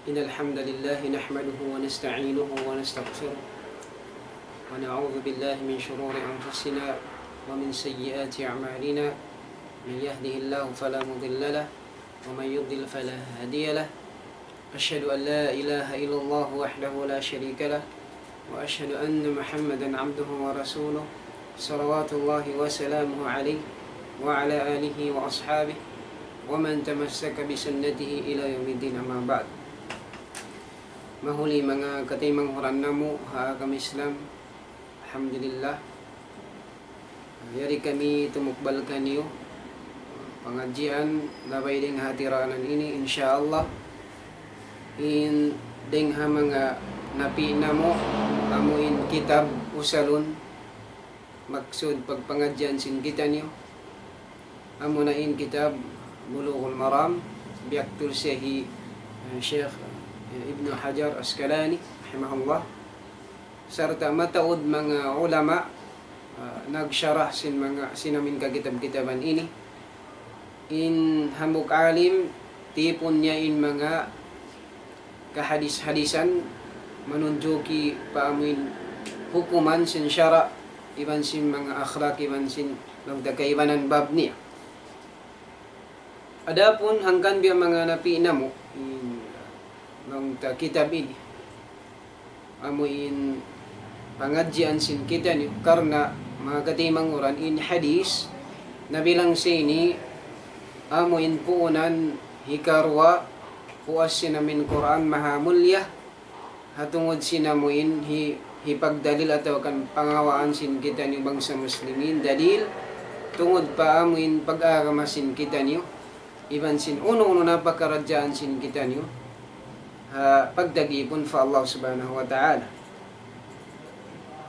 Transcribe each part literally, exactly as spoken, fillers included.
إن الحمد لله نحمده ونستعينه ونستغفره، ونعوذ بالله من شرور أنفسنا ومن سيئات أعمالنا. من يهده الله فلا مضل له، ومن يضلل فلا هادي له. أشهد أن لا إله إلا الله وحده لا شريك له، وأشهد أن محمدا عبده ورسوله، صلوات الله وسلامه عليه وعلى آله وأصحابه ومن تمسك بسنته إلى يوم الدين، أما بعد. Mahuli manga kataymanghuran namu' ha agama Islam, alhamdulillah, yari kami tumukbal kaniyu pangadjian labay dayn ha tiranan ini, insya Allah. In dayn ha manga napi' namu', amu in kitab usalun, maksud pagpangadjian sin kitaniyu, amu na in kitab Bulughul Maram, biyaktul siya hi, eh, Sheikh, eh, Ibnu Hajar Asqalani, rahimahullah. Sarta' mataud manga ulama, ah, nagsharah sin manga, sin amin kakitab-kitaban ini. In hambuuk alim, tipun niya in manga kahadis-hadisan, manunjuki pa amuin hukuman sin sara', iban sin manga akhlak, iban sin laung ta kaibanan bab niya. Adapun hangkan biya' manga napi' namu', in laung ta kitab ini, amu in pangadjian sin kitaniyu, karna' manga kataymanghuran, in hadis nabilang sa ini, amu in puunan hikaruwa puas sin amin Qur'an mahamulliya, ha tungud sin amu in hi-, hipagdalil atawa kan pangawaan sin kitaniyu bangsa Muslimin, dalil tungud pa amu in pag-agama sin kitaniyu, iban sin unu-unu na pakaradjaan sin kitaniyu, ha pagtagipun pa Allah Subhanahu wa Ta'ala.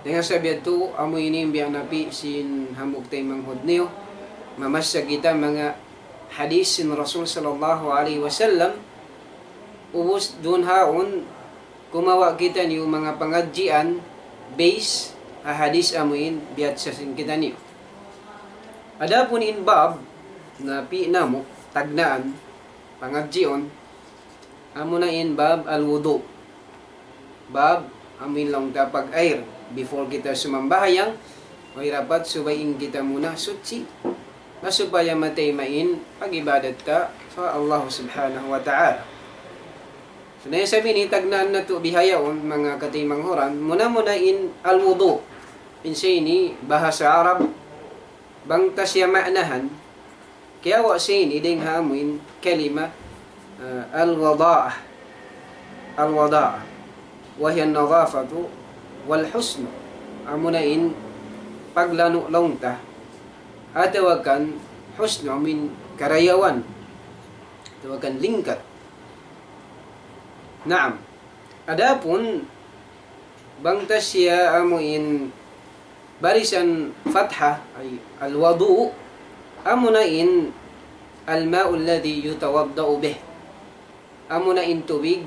Dayn ha sabab yadtu, amu ini in biya' napi' sin hambuuk taymanghud niyu, mamassa kita manga hadis sin Rasul sallallahu alayhi wasallam, ubus duun haun, kumawa' kitaniyu manga pangadjian base ha hadis amu in biyatsa sin kitaniyu. Adapun in bab napi' namu' tagnaan pangadjiun, amu na in bab al-wudu'. Bab amu in laung ta pag-air. Before kita sumambahayang, way dapat subay in kita muna suchi, na supaya matayma' in pag-ibadat ta pa Allah Subhanahu wa Ta'ala. So, na isab ini tagnaan natu' bihaun, manga kataymanghuran, muna-muna in al-wudu'. In sa ini bahasa Arab, bang ta siya ma'nahan, kiyawa' sa ini dayn ha amu in kalima, ah, al-wada'ah. Al-wada'ah. Wa hiya an-nadhafatu wal husnu. Amu na in paglanu' laung ta. Atawa kan husnu, amu in karayawan. Atawa kan lingkat. Naam. Adapun bang ta siya amu in barisan fatha, ay al-wudu', amu na in al-ma'u alladhi yutawadda'u bih. Amu na in tubig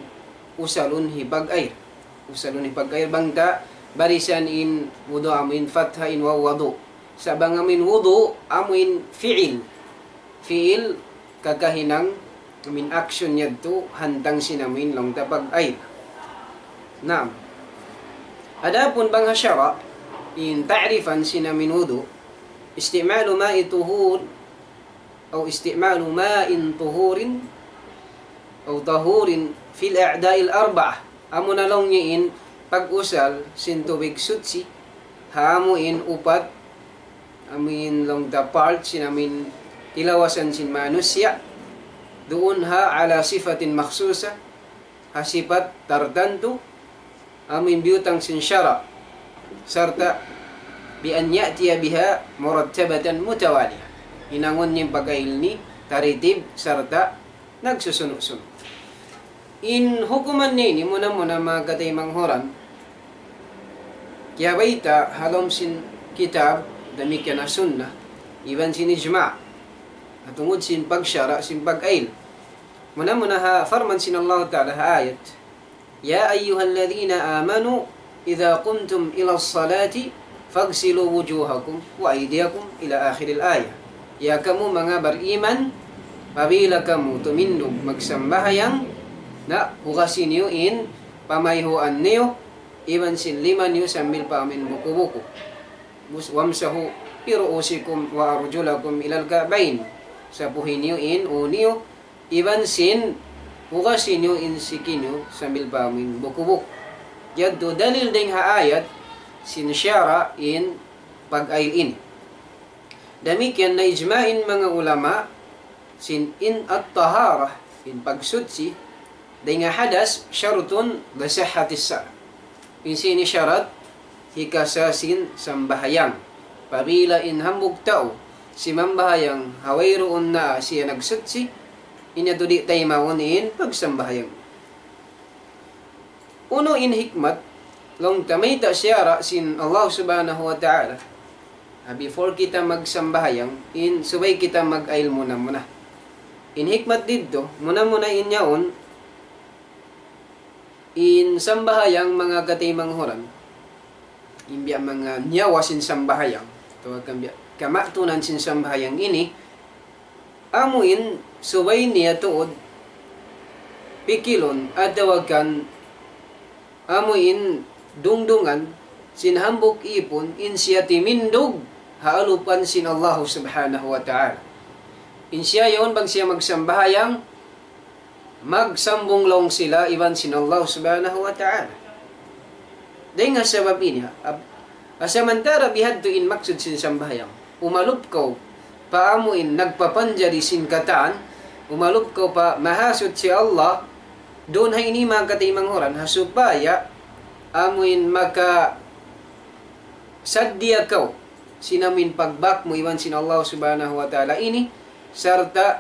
usalun hipag-air. Usalun hipag-air bang ta barisan in wudu' amu in fatha in waw wudu'. Sa' bang amu in wudu', amu in fi'il. Fi'il kakahinang, amu in action yadtu, hantang sin amu in laung ta pag-air. Naam. Adapun bang ha sara', in ta'rifan sin amu in wudu', استعمال ماء طهور أو استعمال ماء طهور أو طهور في الأعضاء الأربعة. Amu na laung niya in pag-usal sin tubig suchi ha amu in upat, amu in laung ta part sin amu in tilawasan sin manusiya', duun ha على صفة مخصوصة, ha sipat tartantu, amu in biyutang sin sara', sarta' بأن يأتي بها مرتبة متوالية. Hinangun niya in pag-ail ini taritib sarta' nagsusunu'-sunu'. In hukuman niya ini muna-muna manga kataymanghuran, kiyabayta' ha lawm sin kitab, damikkiyan ha sunnah, iban sin ijma'. Ha tungud sin pagsara' sin pag-ail. Muna-muna ha parman sin Allah Ta'ala ha ayat, يا أيها الذين آمنوا إذا قمتم إلى الصلاة فاغسلوا وجوهكم وأيديكم إلى آخر الآية. Ya kamu manga bariman, apabila kamu tumindug magsambahayang, Na, hugasi niyu in pamayhuan niyu, iban sin lima niyu sambil pa amuin buku-buku. Bus-, وامسحوا برءوسكم وأرجلكم إلى الكعبين. Sapuhi niyu in ū niyu, iban sin hugasi niyu in siki niyu sambil pa amuin buku-buku. Yadtu dalil dayn ha ayat sin sara' in pag-ayl ini. Damikkiyan na ijma' in manga ulama sin in at-taharah, in pagsuchi, dayn ha hadas, شرط لصحة الصلاة. In siya ini sharat hikasa sin sambahayang. Apabila in hambuuk tau simambahayang ha wayruun na siya nagsuchi, in yadtu di' taymaun in pagsambahayang. Unu in hikmat, laung ta mayta' sara' sin Allah Subhanahu wa Ta'ala. Ah, before kita magsambahayang, in subay kita mag-ayl muna-muna. In hikmat didtu, muna-muna in yaun, in sambahayang manga kataymanghuran, in biya' manga nyawa sin sambahayang, atawa kan biya' kamatunan sin sambahayang ini, amuin subay niya tuud pikilun atawa kan amuin dungdungan sin hambuuk īpun in siya timindug ha alupan sin Allah Subhanahu wa Ta'ala. In siya yaun bang siya magsambahayang, magsambung laung sila iban sin Allah Subhanahu wa Ta'ala. Dayn ha sabab ini, ab-, samantara' bihadtu in maksud sin sambahayang. Umalup kaw pa amuin nagpapanjari sin katan, umalup kaw pa Mahasuchi Allah, duun ha ini manga kataymanghuran, ha supaya amuin makasaddiya kaw sin amuin pagbak mu iban sin Allah Subhanahu wa Ta'ala ini, sarta'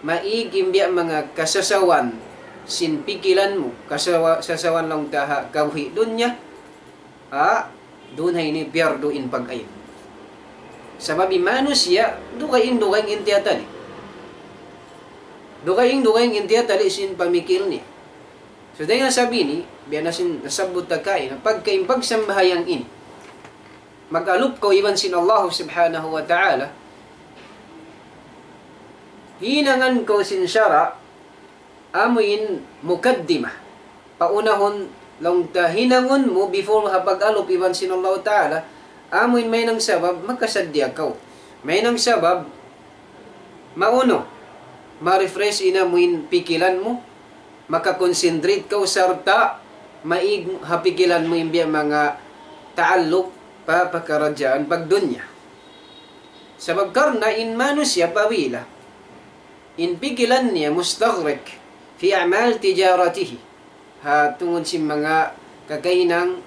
maig in biya' manga kasasawan sin pikilan mu, kasawa-, sasawan laung ta ha kabuhi' dunya, ha, duun ha ini piyardu in pag-ayl. Sabab in manusiya', dugaing-dugaing in tiyatali'. Dugaing-dugaing in tiyatali' sin pamikil niya. So, dayn ha sabab ini, biya' na sin nasabbut ta kaina, pagka in pagsambahayang ini, mag-alup kaw iban sin Allah Subhanahu wa Ta'ala, hinangan kaw sin sara', amuin mukaddimah. Paunahun laung ta hinangun mu before ha pag-alup iban sin Allah Ta'ala, amuin mayan sabab makasaddiya kaw. Mayan sabab maunu, ma-refresh in amuin pikilan mu, maka-concentrate kaw sarta' maig ha pikilan mu in biya' manga ta'alluq pa pakaradjaan pagdunya. Sabab karna' in manusiya' apabila in pikilan niya mustaghriq fi a'mal tijaratihi, ha tungud sin manga kakahinang,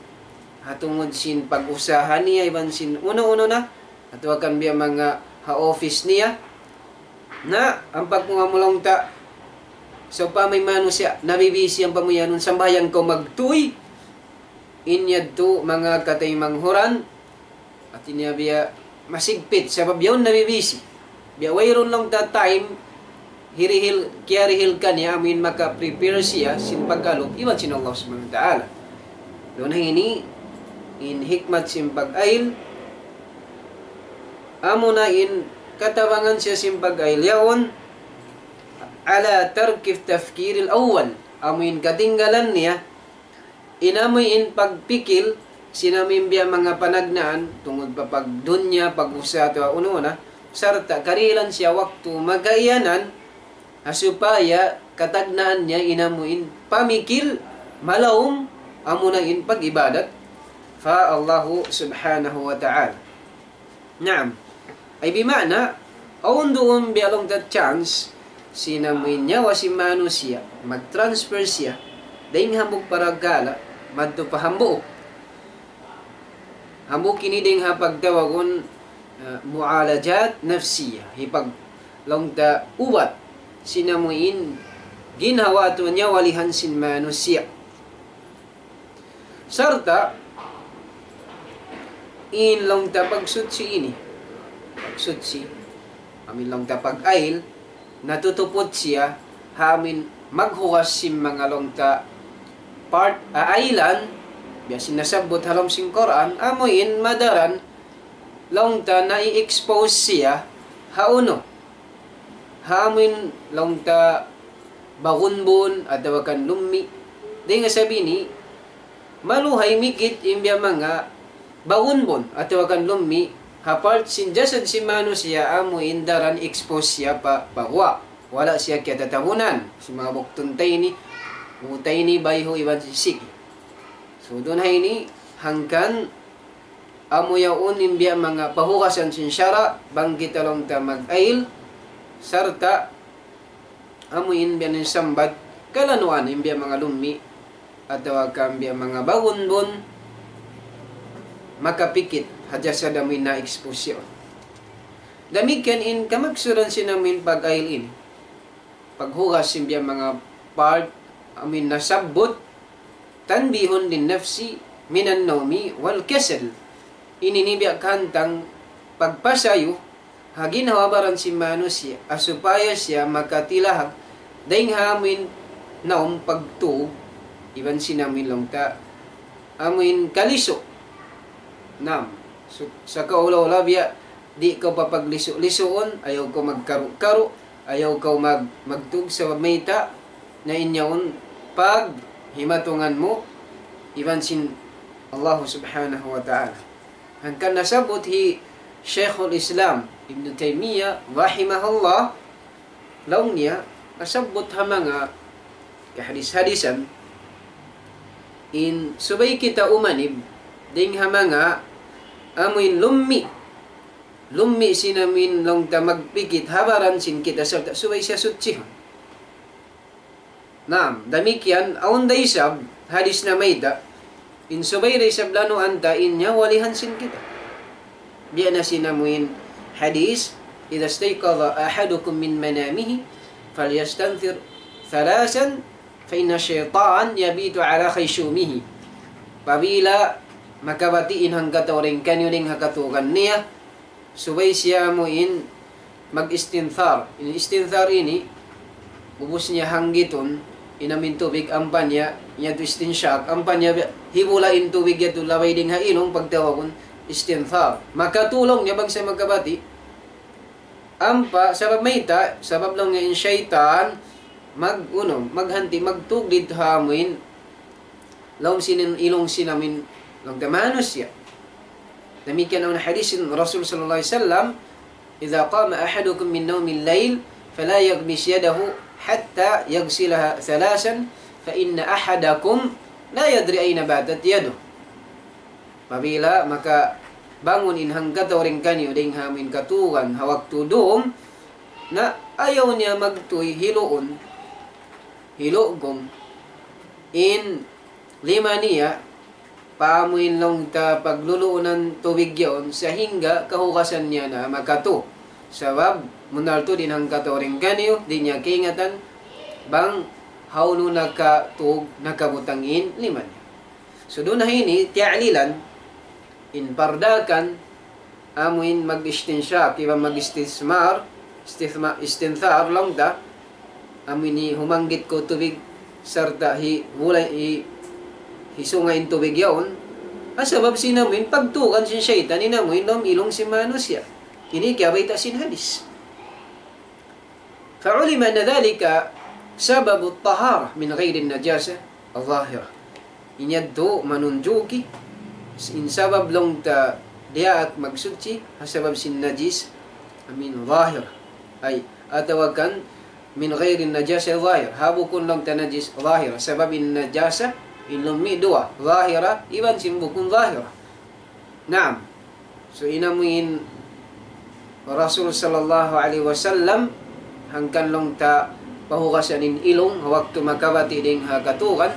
ha tungud sin pag-usaha niya, iban sin unu-unu na, atawa kan biya' manga ha office niya. Na, ampa ku nga mulong ta, sa' upama in manusiya', nabibisi ampa mu yan, sambahayang kaw magtuy, in yadtu manga kataymanghuran, hati niya biya' masigpit, sabab yaun nabibisi. Biya' wayruun laung ta time, hirihil, kiyarihil kaniya amuin maka-prepare siya sin pag-alup iban sin Allah Subhanahu wa Ta'ala. Duun ha ini, in hikmat sin pag-ayl, amuna in katabangan siya sin pag-ayl yaun, على ترك التفكير الأول. Amuin katinggalan niya, in amuin pagpikil, sin amuin biya' manga panagnaan, tungud pa pagdunya, pag-usaha, atawa unu-unu na, sarta' karihilan siya waktu makaiyanan, ha supaya katagnaan niya in amuin pamikil, malaum, amuna in pag-ibadat pa Allahu Subhanahu wa Ta'ala. Naam. Ay bima'na, awn duun biya' laung ta chance, sin amuin nyawa sin manusiya', mag-transfer siya, dayn hambuuk parkala', madtu pa hambuuk. Hambuuk ini dayn ha pagtawagun, ah, mu'alajat nafsiyya, hipag laung ta ubat, sin amuin ginhawa atawa nyawalihan sin manusiya'. Sarta', in laung ta pagsuchi ini, pagsuchi, amuin laung ta pag-ayl, natutuput siya, ha amuin maghugas sin manga laung ta part, ah, aylan, biya' sin nasabbut ha lawm sin Qur'an, amuin madaran, laung ta nai-expose siya, ha unu, ha amuin laung ta bagunbun atawa kan lummi'. Dayn ha sabab ini, maluhay mikit in biya' manga bagunbun atawa kan lummi' ha part sin jasad sin manusiya' amu in daran expose siya pa, pa guwa'. Wala' siya kiyatatabunan sin manga buktun tayni, u tayni, bayhu' iban sisig. So, duun ha ini, hangkan amu yaun in biya' manga pahugasan sin sara', bang kita laung ta mag-ayil, sarta' amu in biya' ini sambat, kalanuan in biya' manga lummi', atawa kan biya' manga bagunbun, makapikit ha jasad amu in na-expose yaun. Damikkiyan in kamaksuran sin amu in pag-ayil ini. Paghugas sin biya' manga part amu in nasabbut, تنبيه للنفس من النوم والكسل. Ini in biya' kahantang pagpasayu ha ginhawa-baran sin manusiya', ha supaya siya makatilahag dayn ha amu in naum, pagtug, iban sin amu in laung ta amu in kalisu. Naam. Su-, sakaula-ula biya' di' kaw papaglisu-lisuun, ayaw kaw magkaru-karu, ayaw kaw mag-, magtug sabab mayta', na in yaun paghimatungan mu iban sin Allah Subhanahu wa Ta'ala. Hangkan nasabbut hi Shaykhul Islam Ibn Taymiyyah rahimahullah, laung niya, nasabbut ha manga kahadis-hadisan, in subay kita umanib dayn ha manga amu in lummi'. Lummi' sin amu in laung ta magpikit ha baran sin kita sarta' subay siya sutsihun. Naam, damikkiyan, awn da isab hadis namayta', in subay da isab lanuan ta in nyawa walihan sin kita. Biya' na sin amu in hadis, إذا استيقظ أحدكم من منامه فليستنثر ثلاثا فإن الشيطان يبيت على خيشومه. Apabila makabati' in hangkatau dayn kaniyu dayn ha katugan niya, subay siya amu in mag-istinthar. In istinthar ini, ubus niya hanggitun in amu in tubig, ampa niya, niya tu istinshaq, ampa niya hibula' in tubig yadtu labay dayn ha ilung, pagtawagun istinthar. Makatulung niya bang siya makabati'. Ampa, sabab mayta', sabab laung niya in saytan, mag-, unu, maghanti', magtug didtu ha amu in lawm sin ilung sin amu in laung ta manusiya'. Damikkiyan awn hadis sin Rasul sallallahu alayhi wasallam, إذا قام أحدكم من نوم الليل فلا يغمس يده حتى يغسلها ثلاثا فإن أحدكم لا يدري أين باتت يده. Apabila makabangun in hangkatau dayn kaniyu dayn ha amu in katugan ha waktu dum, na ayaw niya magtuy hiluun, hilugum in lima niya, pa amu in laung ta pagluluunan tubig yaun, sahingga kahugasan niya na makatu. Sabab, bunnal tuud in hangkatau dayn kaniyu, di' niya kaingatan, bang hawnu nakatug, nakabutang in lima niya. So, duun ha ini, tiya'lilan, in pardakan, amu in mag-istinshaq, iban mag-istithmar, istithma-, istinthar, laung ta, amu ini humanggit kaw tubig, sarta' hi-, hula-, hi-, hisunga in tubig yaun, ha sabab sin amu in pagtugan sin saytan, in amu in lawm ilung sin manusiya'. Ini kiyabayta' sin hadis. فعلم أن ذلك سبب الطهارة من غير النجاسة الظاهرة. In yadtu manunjuki, in sabab laung ta diyaak magsuchi, ha sabab sin najis, amu in zahir. Ay, atawa kan من غير النجاسة الظاهرة. Ha bukun laung ta najis zahir. Sabab in najasa, in lummi' duwa. Zahira, iban sin bukun zahira. Naam. So, in amu in Rasul sallallahu alayhi wasallam, hangkan laung ta pahugasan in ilung, waktu makabati' dayn ha katugan,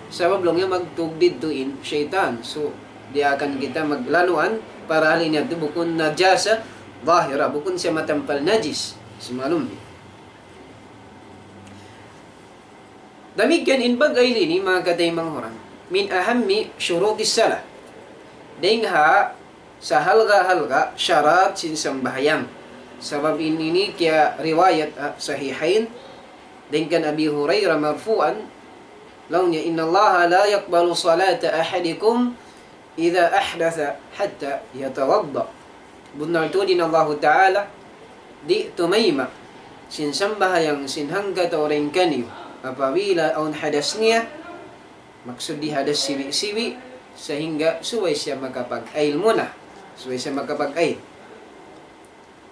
sabab laung niya magtug didtu in saytan. So, diyaakan kita maglanuan, parahal in yadtu bukun najasa zahira, bukun siya matampal najis, sin lummi'. Damikkiyan in pag-ayil ini, manga kataymanghuran, من أهم شروط الصلاة. Dayn ha sahalga'-halga' sharat sin sambahayang. Sabab in ini kiyariwayat, ah, Sahihayn, dayn kan Abi Hurairah marfu'an, laung niya, إن الله لا يقبل صلاة أحدكم إذا أحدث حتى يتوضأ. Bunnal tuud in Allahu Ta'ala, di' tumayma' sin sambahayang sin hangkatau dayn kaniyu, Apabila awn hadas niya, maksud di hadas siwi-siwi, sahingga subay siya makapag-ayil muna. Subay siya makapag-ayil.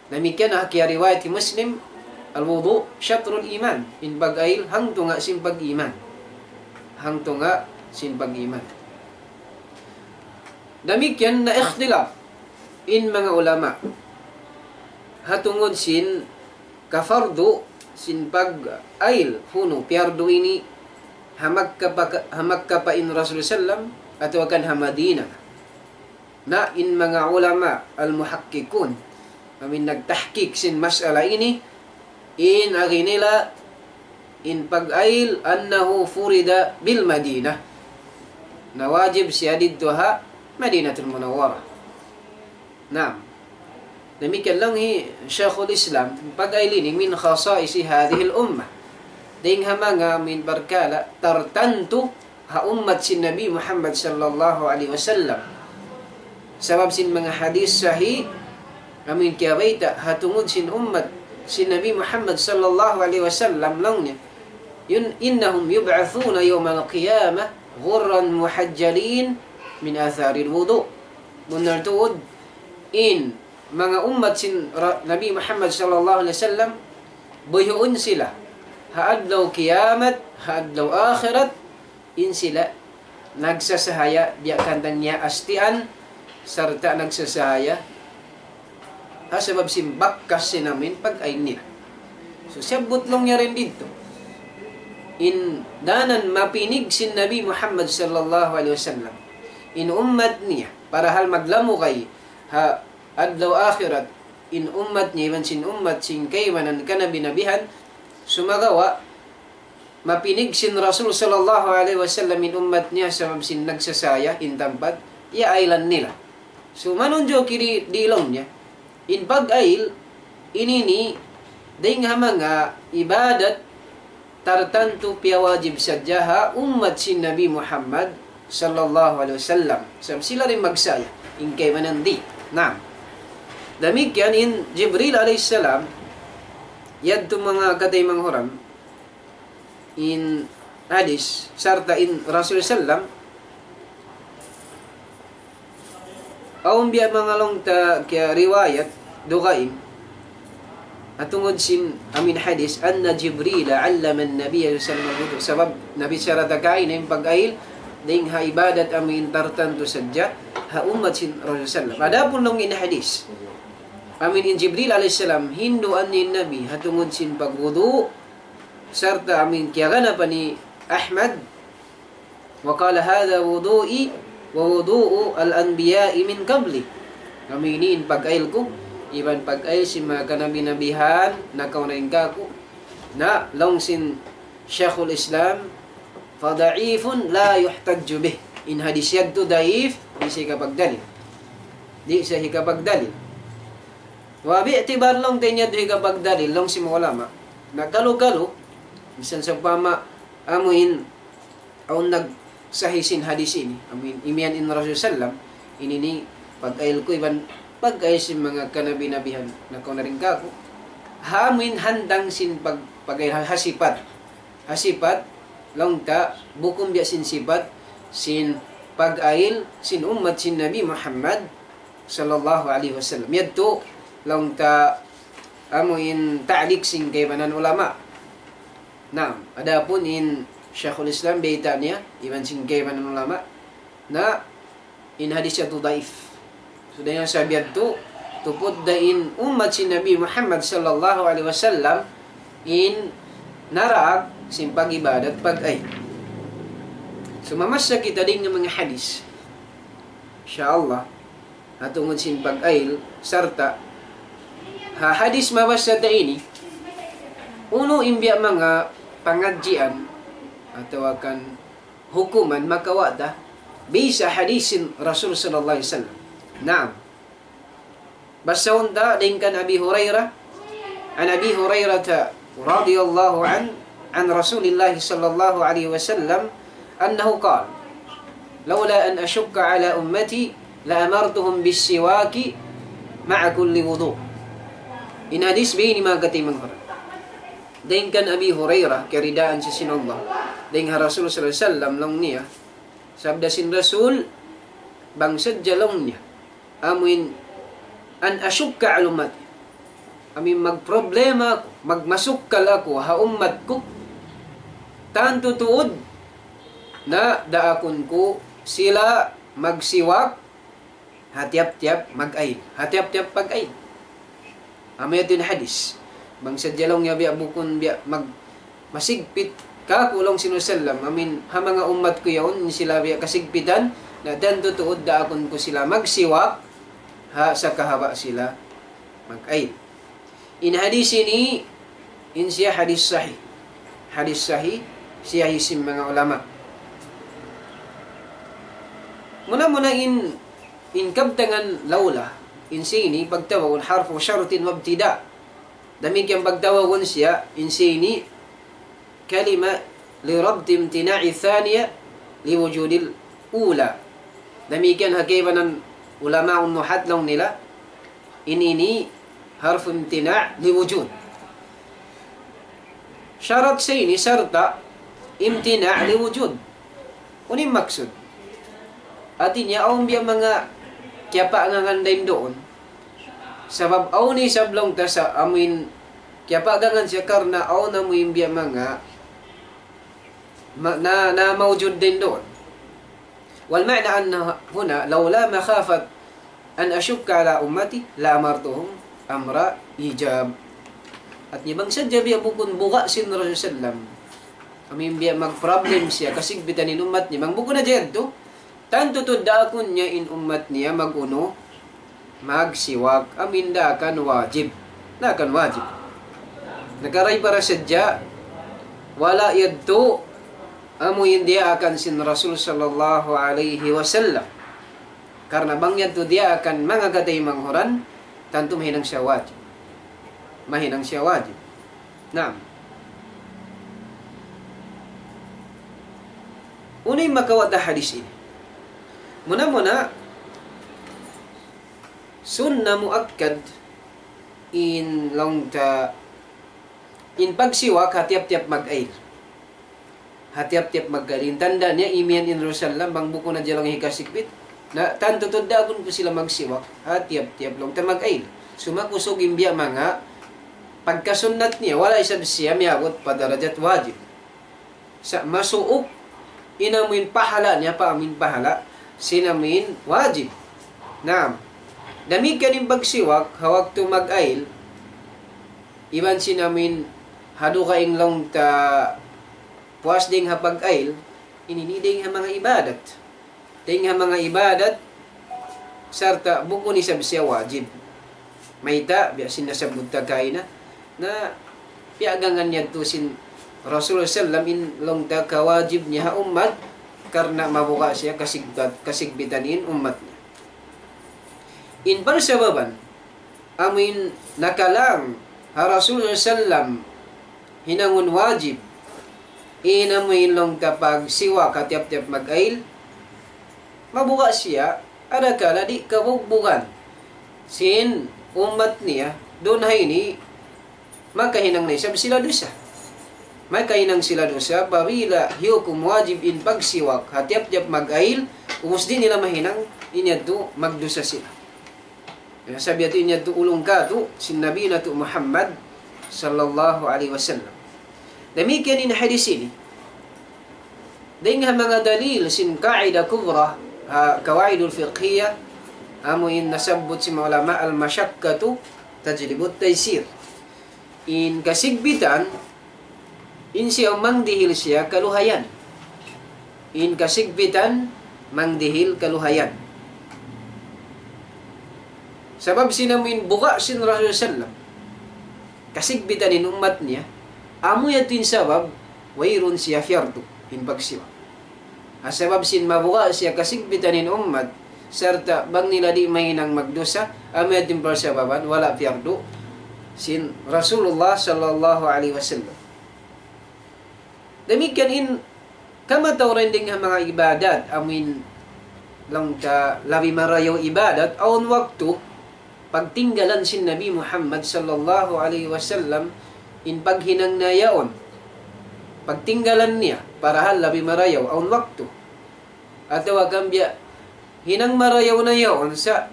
Damikkiyan ha kiyariwayat hi Muslim, الوضوء شطر الإيمان. In pag-ayil hangtunga' sin pag-iman. Hangtunga' sin pag-iman. Damikkiyan na ikhtilaf in manga ulama. Ha tungud sin kafardu sin pag-ayil, hunu piyardu ini ha Makkah pa, ha Makkah pa in Rasul sallam atawa kan ha Madinah. Na in manga ulama al-muhakkikun, amin nagtahkik sin mas'ala ini, in agi nila in pag-ayil أنه فرض بالمدينة. Na wajib siya didtu ha Madinatul Munawwarah. Naam. Damikkiyan laung hi Shaykhul Islam, pag-ayil ini من خصائص هذه الأمة. Dayn ha manga amin parkala' tartantu ha ummat sin Nabi Muhammad sallallahu alayhi wasallam. Sabab sin manga hadith sahih, amin kiyabayta' ha tungud sin ummat sin Nabi Muhammad sallallahu alayhi wasallam laung niya, yun, إنهم يبعثون يوم القيامة غرا محجلين من أثر الوضوء. Bunnal tuud, in manga ummat sin Ra-, Nabi Muhammad sallallahu alayhi wasallam, buyuun sila ha adlaw kiyamat, ha adlaw akhirat, in sila nagsasahaya, biya' kantang niya astian, sarta' nagsasahaya ha sabab sin bakas sin amin pag-ayil nila. So, siyabbut laung niya dayn didtu in danan mapinig sin Nabi Muhammad sallallahu alayhi wasallam, in ummat niya, parahal maglamugay ha adlaw akhirat in ummat niya iban sin ummat sin kaibanan kanabi-nabihan, sumagawa' mapinig sin Rasul sallallahu alayhi wasallam in ummat niya sabab sin nagsasahaya in tampat iyaayilan nila. So, manunjuki di, di laung niya, in pag-ayil ini ini dayn ha manga ibadat tartantu piyawajib sadja ha ummat sin Nabi Muhammad sallallahu alayhi wasallam. Sabab sila da in magsahaya, in kaibanan di'. Naam. Damikkiyan in Jibril alayhi salam, yadtu manga kataymanghuran, in hadith, sarta' in Rasul sallam, awn biya' manga laung ta kiyariwayat dugaing, ha tungud sin amin hadith, أن جبريل علم النبي صلى الله عليه وسلم الوضوء. Sabab nabichara ta kaina in pag-ayil, dayn ha ibadat amin tartantu sadja ha ummat sin Rasul sallam. Adapun laung in hadith, amin in Jibril alayhi salam, hinduan niya in Nabi ha tungud sin pagwudu', sarta' amin kiyaganapan hi Ahmad, وقال هذا وضوئي ووضوء الأنبياء من قبلي. Amu ini in pag-ayil ku, iban pag-ayil sin manga kanabi-nabihan nakauna dayn kāku'. Na, laung sin Shaykhul Islam, فضعيف لا يحتج به. In hadith yadtu daif, di' siya hikapagdalil. Di' siya hikapagdalil. Wa bi'tibar laung ta in yadtu hikapagdalil, laung sin manga ulama. Na kalu-kalu, misan sawpama, amu in awn nagsahi sin hadith ini. Amu in imiyan in Rasul sallam, ini ini pag-ayil ku iban pag-ayil sin manga kanabi-nabihan nakauna dayn kāku'. Ha amu in hantang sin pag-, pag-ayil ha, ha sipat. Ha sipat, laung ta, bukun biya' sin sipat sin pag-ayil sin ummat sin Nabi Muhammad sallallahu alayhi wasallam. Yadtu, laung ta, amu in ta'liq sin kaibanan ulama. Naam, adapun in Shaykhul Islam bayta' niya, iban sin kaibanan ulama, na in hadith yadtu daif. So, dayn ha sabab yadtu, tuput da in ummat sin Nabi Muhammad sallallahu alayhi wasallam in naraak sin pag-ibadat pag-ayil. So, mamassa kita dayn ha manga hadith. Insya Allah. Ha tungud sin pag-ayil, sarta' ha hadith mabassa ta ini, unu in biya' manga pangadjian atawa kan hukuman makawa' ta, biya' sin hadith sin Rasul sallallahu alayhi wasallam. Naam. Basahun ta dayn kan Abi Hurairah, عن أبي هريرة رضي الله عنه عن رسول الله صلى الله عليه وسلم أنه قال: لولا أن أشق على أمتي لأمرتهم بالسواك مع كل وضوء. In hadith biya' ini manga kataymanghuran. Dayn kan Abi Hurairah, kiyaridaan siya sin Allah. Dayn ha Rasul sallallahu alayhi wasallam, laung niya, sabda sin Rasul, bang sadja laung niya, amuin an ashukka ala ummati. Amuin magproblema aku, magmasukkal aku ha ummat ku. Tantu tuud na daakun ku sila magsiwak ha tiyap-tiyap mag-ail. Ha tiyap-tiyap pag-ail. Amu yadtu in hadis. Bang sadja laung niya biya' bukun biya' mag-, masigpit kāku' laung sin Rasul sallam. Amuin ha manga ummat ku yaun, in sila biya' kasigpitan, na tantu tuud daakun ku sila magsiwak ha sakahaba' sila mag-ail. In hadis ini, in siya hadis sahih. Hadis sahih, siya hi sin manga ulama. Muna-muna in, in kabtangan lawla, in sini pagtawagun harfu shartin wa ibtida'. Damikkiyan pagtawagun siya, in sini kalima li rabti imtina'i thaniya li wujudil ula. Damikkiyan ha kaibanan ulama nuhat laung nila, in ini harfu imtina' li wujud. Sharat sa ini sarta' imtina' li wujud. Unu in maksud? Hāti niya, awn biya' manga kiyapagangan dayn duun. Sabab awn isab laung ta sa amuin kiyapagangan siya karna' awn amuin biya' manga ma-, na, na mawjud dayn duun. والمعنى أن هنا لولا مخافة أن أشق على أمتي لأمرتهم أمر إيجاب. Hāti niya bang sadja biya' bukun buga' sin Rasul sallam, amuin biya' magproblem siya, kasigpitan in ummat niya. Bang bukun na yadtu, tantu tuud daakun niya in ummat niya mag-unu, magsiwak, amuin daakan wajib. Daakan wajib. Nakaray para sadja, wala' yadtu amuin diyaakan sin Rasul sallallahu alayhi wasallam. Karna' bang yadtu diyaakan manga kataymanghuran, tantu mahinang siya wajib. Mahinang siya wajib. Naam. Unu in makawa' ta hadis ini? Muna-muna, sunna muakkad in laung ta, in pagsiwak ha tiyap-tiyap mag-ail. Ha tiyap-tiyap mag-ail. In tanda' niya, imiyan in Rasul sallam, bang bukun na laung hikasigpit. Na, tantu tuud daakun ku sila magsiwak ha tiyap-tiyap laung ta mag-ail. Suma kusug in biya' manga pagkasunnat niya, wala' isab siya miyabut pa darajat wajib. Sa' masuuk in amuin pahala' niya pa amuin pahala' sin amuin wajib. Naam. Damikkiyan in pagsiwak ha waktu mag-ail, iban sin amuin ha dugaing laung ta puas dayn ha pag-ail, ini ini dayn ha manga ibadat. Dayn ha manga ibadat, sarta' bukun isab siya wajib. Mayta', biya' sin nasabbut ta kaina, na piyagangan yadtu sin Rasul sallam in laung ta kawajib niya ha ummat, karna' mabuga' siya kasigpat-, kasigpitan in ummat niya. In parsababan, amuin nakalang ha Rasul sallam hinangun wajib, in amuin laung ta pagsiwak ha tiyap-tiyap mag-ail, mabuga' siya, adakala di' kabugbugan sin ummat niya, duun ha ini, makahinang na isab sila dusa. Makahinang sila dusa, apabila hiyukum wajib in pagsiwak ha tiyap-tiyap mag-ail, ubus di' nila mahinang, in yadtu magdusa sila. Ya, sabab yadtu in yadtu ulung katu' sin Nabi natu' Muhammad sallallahu alayhi wasallam. Damikkiyan in hadis ini. Dayn ha manga dalil sin qaida kubra, ha, qawaidul fiqhiyah, amu in nasabbut sin ulama, al-mashaqqatu tajlibut taysir. In kasigpitan, in siya mangdihil siya kaluhayan. In kasigpitan, mangdihil kaluhayan. Sabab sin amu in buga' sin Rasul sallam, kasigpitan in ummat niya, amu yadtu in sabab, wayruun siya piyardu, in pagsiwak. Ha sabab sin mabuga' siya kasigpitan in ummat, sarta' bang nila di' mahinang magdusa, amu yadtu in parsababan, wala' piyardu, sin Rasulullah sallallahu alayhi wasallam. Damikkiyan in kamatauran dayn ha manga ibadat, amu in laung ta labi marayaw ibadat, awn waktu pagtinggalan sin Nabi Muhammad sallallahu alayhi wasallam, in paghinang niya yaun, pagtinggalan niya, parahal labi marayaw, awn waktu. Atawa kan biya' hinang marayaw na yaun sa'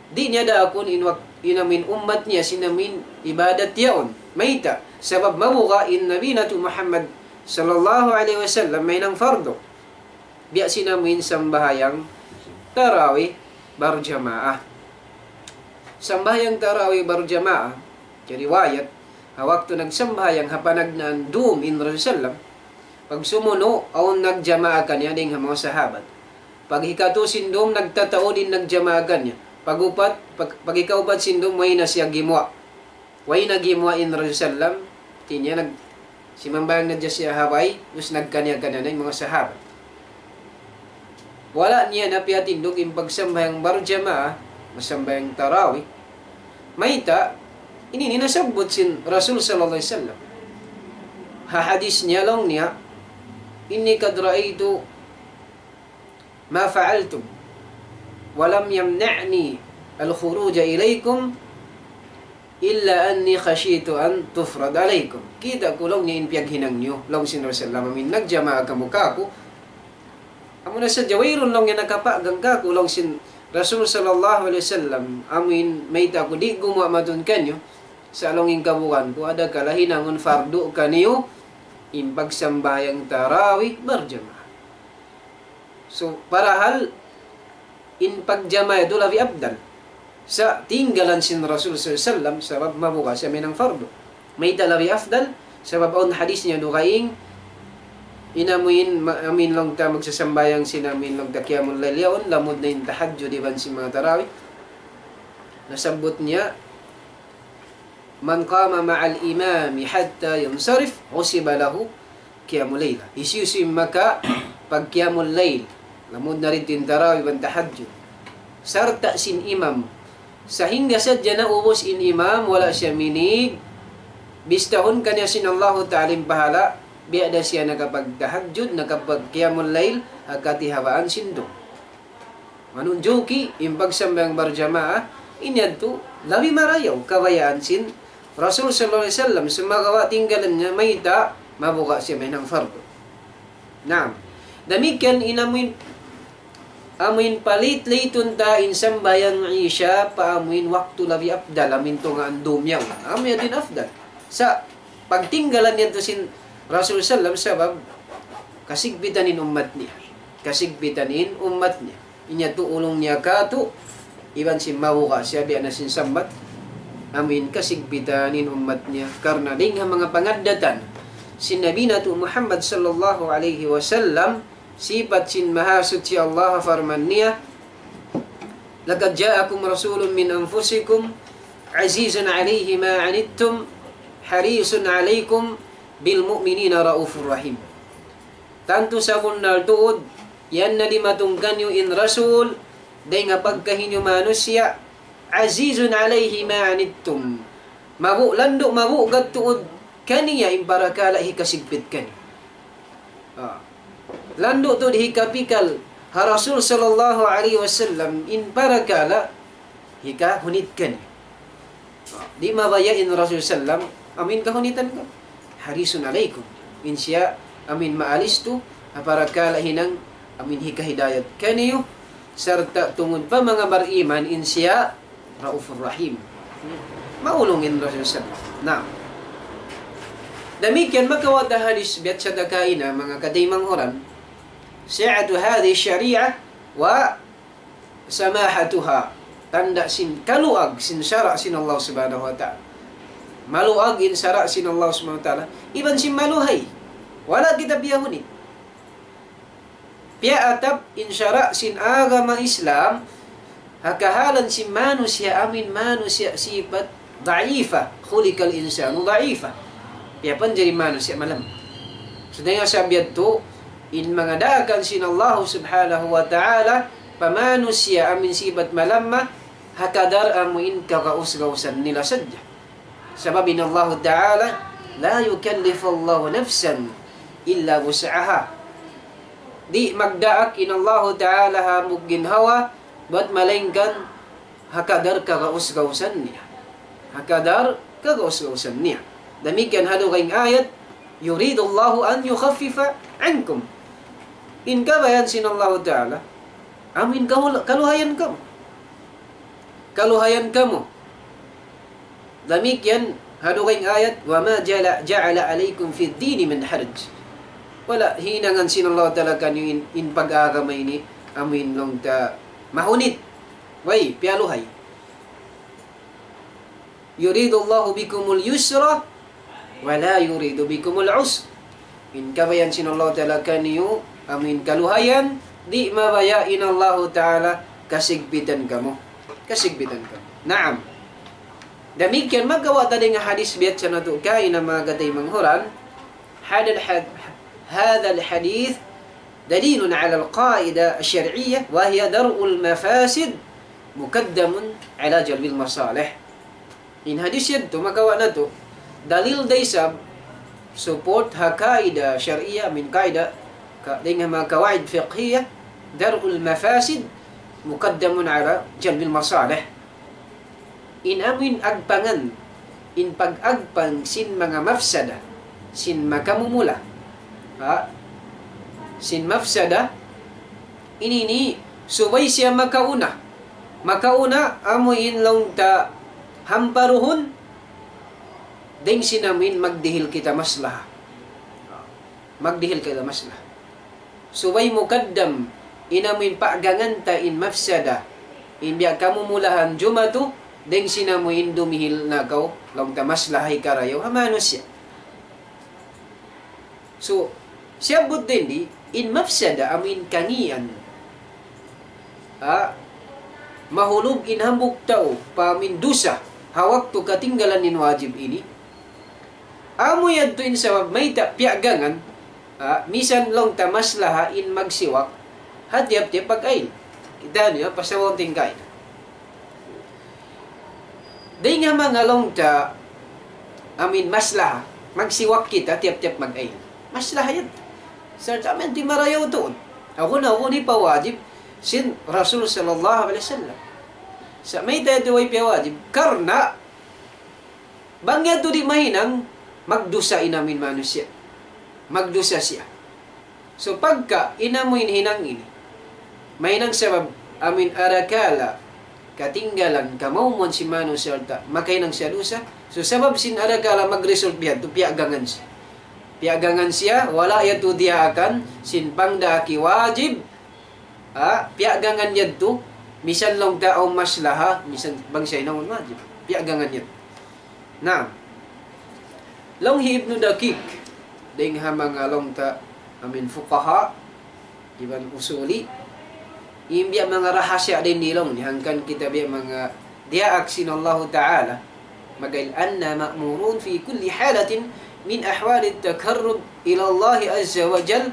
di' niya daakun in wak-, in amuin ummat niya sin amuin ibadat yaun. Mayta'? Sabab mabuga' in Nabi natu' Muhammad sallallahu alayhi wasallam mahinang fardu. Biya' sin amuin sambahayang tarawih barjamaah. Sambahayang tarawih barjamaah, kariwayat, ha waktu nagsambahayang ha panagnaan dum in Rasul sallam, pag sumunu', awn nagjamaah kaniya dayn ha manga sahabat. Pag hikatu sin dum, nagtataud in nagjamaah kaniya. Pag upat, pag, pag hikaupat sin dum, way na siya gimuwa'. Way na gimuwa' in Rasul sallam, hati niya nag-, simambahayang na siya ha bay, ubus nagkaniya-kaniya na in manga sahabat. Wala' niya na piyatindug in pagsambahayang barjamaah, magsambahayang tarawih. Mayta', ini in nasabbut sin Rasul sallallahu alayhi wasallam. Ha hadith niya laung niya, إني قد رأيت ما فعلتم ولم يمنعني الخروج إليكم إلا أني خشيت أن تفرض عليكم. Kita' ku laung niya in piyaghinang niyu, laung sin Rasul sallam, amuin nagjamaah kamu kāku'. Amuna sadja wayruun laung niya nakapagang kāku', laung sin Rasul sallallahu alayhi wasallam, amuin mayta' aku di' gumuwa' madtu kaniyu, sa' laung in kabugaan ku, adakala hinangun fardu kaniyu in pagsambahayang tarawih barjamaah. So, parahal in pagjamaah yadtu labi afdal. Sa' tinggalan sin Rasul sallallahu alayhi wasallam, sabab mabuga' siya mahinang fardu. Mayta' labi afdal? Sabab awn hadith niya dugaing, in amuin, ma-, amuin laung ta magsasambahayang sin amuin laung ta qiyamul layl yaun, lamud na in tahajjud iban sin manga tarawih. Nasabbut niya, من قام مع الإمام حتى ينصرف حسب له قيام ليلة. Hisiyu-siyu in makapagqiyamul layl, lamud na didtu in tarawih iban tahajjud, sarta' sin imam, sahingga sadja naubus in imam, wala' siya minig, bistahun kaniya sin Allahu Ta'ala in pahala', biya' da siya nakapagtahajjud, nakapagqiyamul layl, ha katihawaan sin dum. Manunjuki in pagsambahayang barjamaah, in yadtu labi marayaw kabayaan sin Rasul sallallahu alayhi wasallam, sumagawa' tinggalan niya, mayta', mabuga' siya mahinang fardu. Naam. Damikkiyan in amuin, amuin palit-litun ta in sambahayang Isha pa amuin waktu labi afdal, amuin tungaan dum yaun. Amu yadtu in afdal. Sa' pagtinggalan yadtu sin Rasul sallam sabab kasigpitan in ummat niya. Kasigpitan in ummat niya. In yadtu ulung niya kātu', iban sin mabuga' siya biya' na sin sambat, amuin kasigpitan in ummat niya. Karna' dayn ha manga pangaddatan sin Nabi natu' Muhammad sallallahu alayhi wasallam, sipat sin Mahasuchi Allah, parman niya, لقد جاءكم رسول من أنفسكم عزيز عليه ما عنتم حريص عليكم بالمؤمنين رءوف رحيم. Tantu sabunnal tuud, yan na dimatung kaniyu in Rasul, dayn ha pagkahi niyu manusiya', عزيز عليه ما عنتم. Mabu-, landu' mabugat tuud kaniya in parakala' hikasigpit kaniyu. Ah. Landu' tuud hikapikal ha Rasul sallallahu alayhi wasallam in parakala' hikahunit kaniyu. Ah. Di' mabaya' in Rasul sallam, amuin kahunitan kaniyu. حريص عليكم. In siya, amuin maalistu, ha parakala' hinang, amuin hikahidayat kaniyu, sarta' tungud pa manga bariman, in siya, Raufur Rahim. Maulung in Rasul sallallahu alayhi wasallam. Naam. Damikkiyan makawa' ta hadis biya' sadja kaina, manga kataymanghuran. سعة هذه الشريعة وسماحتها. Tanda' sin kaluag sin sara' sin Allah Subhanahu wa Ta'ala. Maluag in sara' sin Allah Subhanahu wa Ta'ala. Iban sin maluhay. Wala' kita biyahuni. Piyaatap in sara' sin agama Islam, ha kahalan sin manusiya', amuin manusiya' sipat da'ifa, خلق الإنسان ضعيفا. Piyapanjari manusiya' malamma. Sa' dayn ha sabab yadtu, in manga daakan sin Allah Subhanahu wa Ta'ala, pa manusiya' amuin sipat malamma, ha kadar amuin kagaus-gausan nila sadja. Sabab in Allah Ta'ala, لا يكلف الله نفسا إلا وسعها. Di' magdaak in Allah Ta'ala ha hambuuk ginhawa, bat malaingkan ha kadar kagaus-gausan niya. Ha kadar kagaus-gausan niya. Damikkiyan ha dugaing ayat, يريد الله أن يخفف عنكم. In kabayaan sin Allahu Ta'ala, amuin kahul-, kaluhayan kamu. Kaluhayan kamu. Damikkiyan ha dugaing ayat, وما جعل، جعل عليكم في الدين من حرج. Wala' hinangan sin Allahu Ta'ala kaniyu in, in pag-agama ini, amuin laung ta mahunit. Way, piyaluhay. يريد الله بكم اليسر ولا يريد بكم العسر. In kabayaan sin Allahu Ta'ala kaniyu, amuin kaluhayan, di' mabaya' in Allahu Ta'ala kasigpitan kamu. Kasigpitan kamu. Naam. Damikkiyan, makawa' ta dayn ha hadith biyatsa natu' kaina, manga kataymanghuran. هذا الح-، هذا الحديث دليل على القاعدة الشرعية وهي درء المفاسد مقدم على جلب المصالح. In hadith yadtu makawa' natu' dalil da isab, support ha kaida shar'iyya, amuin kaida ka-, dayn ha manga kawaid fiqhiyya, درء المفاسد مقدم على جلب المصالح. In amuin agpangan, in pag-agpang sin manga mafsada, sin makamumula. Ha? Sin mafsada, ini ini, subay siya makauna. Makauna, amuin laung ta hamparuhun, dayn sin amuin magdihil kita maslaha. Magdihil kita maslaha. Subay mukaddam, in amuin paggangan ta in mafsada, in biya' kamumulahan jumatu, dayn sin amuin dumihil na kaw, laung ta maslaha hikarayaw ha manusiya'. So, siyabbut dayn di, in mafsada amuin kangian. Ha? Mahulug in hambuuk tau, pa amuin dusa, ha waktu katinggalan in wajib ini. Amu yadtu in sabab mayta' piyagangan, ha, misan laung ta maslaha in magsiwak, ha tiyap-tiyap pag-ail. Kita' niyu, pasawaw tingkay. Dayn ha manga laung ta, amuin maslaha, magsiwak kita tiyap-tiyap mag-ail. Maslaha yan. Sarta' amuin di' marayaw tuud. Aku na aku ini pawajib, sin Rasul sallallahu alayhi wasallam. Sa' mayta' yadtu way piyawajib. Karna', bang yadtu di' mahinang, magdusa in amuin manusiya'. Magdusa siya. So pagka in amuin hinang ini, mahinang sabab amuin arakala' katinggalan, kamaumuan sin manusiya' ta, makahinang siya dusa. So sabab sin arakala' mag-result biya' yadtu, piyagangan siya. Piyagangan siya, wala' yadtu diyaakan sin pangdaak wajib, ha, piyagangan yadtu, misan laung ta awn maslaha, misan bang siya hinangun wajib. Piyagangan yadtu. Naam. Laung hi Ibnu Daqiq, dayn ha manga laung ta amuin fuqaha, iban usuli, in biya' manga rahasiya dayn di laung niya, hangkan kita biya' manga diyaak sin Allahu Ta'ala, mag-ail أنا مأمورون في كل حالة من أحوال التقرب إلى الله عز وجل